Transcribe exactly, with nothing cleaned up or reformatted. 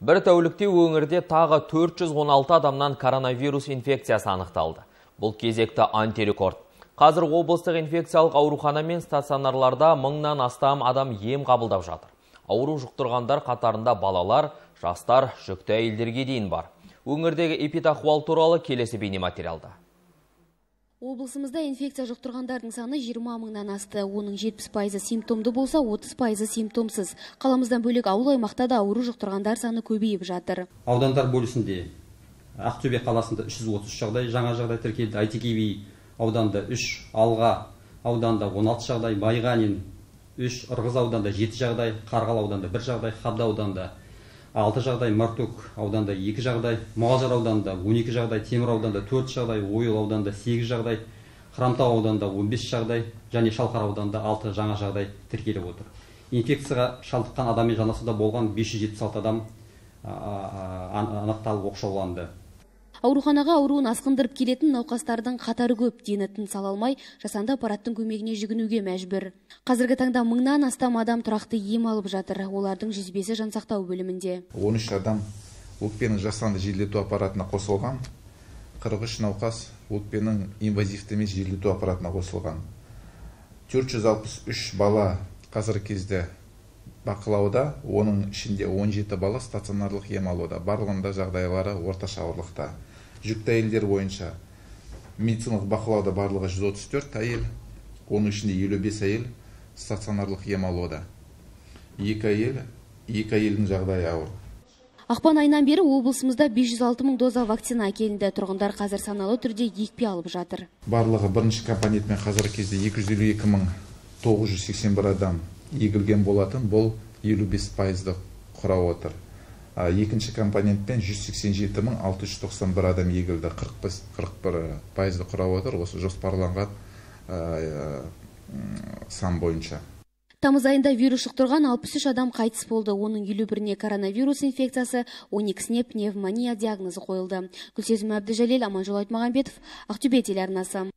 Бір тәулікте өңірде тағы төрт жүз он алты адамнан коронавирус инфекциясы анықталды. Бұл кезекті антирекорд. Қазір облыстық инфекциялық аурухана мен стационарларда мыңнан астам адам ем қабылдап жатыр. Ауру жұқтырғандар қатарында балалар, жастар, жүкті әйелдерге дейін бар. Өңірдегі эпидахуал туралы келесі бейнематериалда. Облысымызда инфекция жұқтырғандардың саны жиырма мыңнан асты. Оның жетпіс пайызы симптомды болса, отыз пайызы симптомсыз. Қаламыздан бөлек ауыл аймақта да ауру жұқтырғандар саны көбейіп жатыр. Аудандар бөлісінде Ақтөбе қаласында үш жүз отыз үш жағдай, жаңа жағдай тіркелді. Әйтеке би ауданда үш, Алға ауданда он алты жағдай, Байғанин үш, Ырғыз ауданда жеті жағдай, Қарғалы ауданда бір жағдай, Қабда ауданда алты жағдай, Мартөк ауданда екі жағдай, Мұғалжар ауданда он екі жағдай, Темір ауданда төрт жағдай, Ойыл ауданда сегіз жағдай, Хромтау ауданда он бес жағдай және Шалқар ауданда алты жаңа жағдай тіркеліп отыр. Инфекцияға шалдыққан адаммен жанасуда болған бес жүз жетпіс алты адам анықталып оқшауланды. Ауруханаға ауруын асқындырып келетін науқастардың қатары көп, дені тыныс ала алмай, жасанды аппараттың көмегіне жүгінуге мәжбүр. Қазіргі таңда мыңнан астам адам тұрақты ем алып жатыр. Олардың жүз бесі жансақтау бөлімінде. он үш адам өкпенің жасанды желдету аппаратына қосылған, қырық үш науқас өкпенің инвазивті емес желдету аппаратына қосылған. төрт жүз алпыс үш бала қазіргі кезде бақылауда, оның ішінде он жеті бала стационарлық ем алуда. Барлығында жағдайлары орташа ауырлықта. Жүкті әйелдер бойынша медициналық бақылауда барлығы жүз отыз төрт әйел, оның ішінде елу бес әйел стационарлық ем алуда. екі әйел, екі әйелдің жағдайы ауыр. Ақпан айынан бері облысымызда бес жүз алты мың доза вакцина әкелінді. Тұрғындар қазір саналы түрде екпе алып жатыр. Барлығы бірінші компонентпен қазіргі кезде екі жүз елу екі мың тоғыз жүз сексен бір адам егілген болатын, бұл елу бес пайызды құрап отыр. Екінші компонентпен жүз сексен жеті мың алты жүз тоқсан бір адам егілді, қырық бір пайызды құрап отыр, осы жоспарланған сан бойынша. Тамыз айында вирус жұқтырған алпыс үш адам қайтыс болды. Оның елу біріне коронавирус инфекциясы, он екісіне пневмония диагнозы қойылды. Гүлсезім Әбдіжәлел, Аманжол Айтмағамбетов, Ақтөбе телеарнасы.